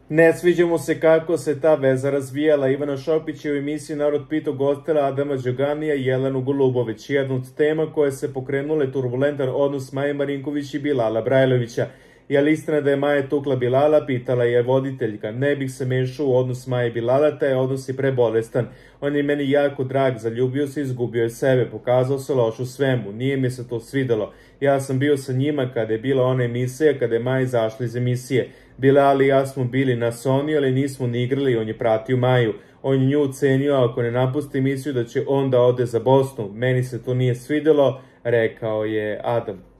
Ne sviđa mu se kako se ta veza razvijala. Ivana Šopić je u emisiji Narod pitao gostila Adama Đoganija i Jelenu Golubović. Jedna od tema koje se pokrenule turbulentan odnos Maje Marinković i Bilala Brajlovića. Je li istina da je Maja tukla Bilala, pitala je voditeljka. Ne bih se mešao u odnos Maje i Bilala, taj odnos je prebolestan. On je meni jako drag, zaljubio se, izgubio je sebe, pokazao se loš u svemu, nije mi se to svidelo. Ja sam bio sa njima kada je bila ona emisija, kada je Maja izašla iz emisije. Bilal i ja smo bili na Sony, ali nismo ni igrali, on je pratio Maju. On je nju ucenio, ako ne napusti emisiju, da će on da ode za Bosnu. Meni se to nije svidelo, rekao je Adam.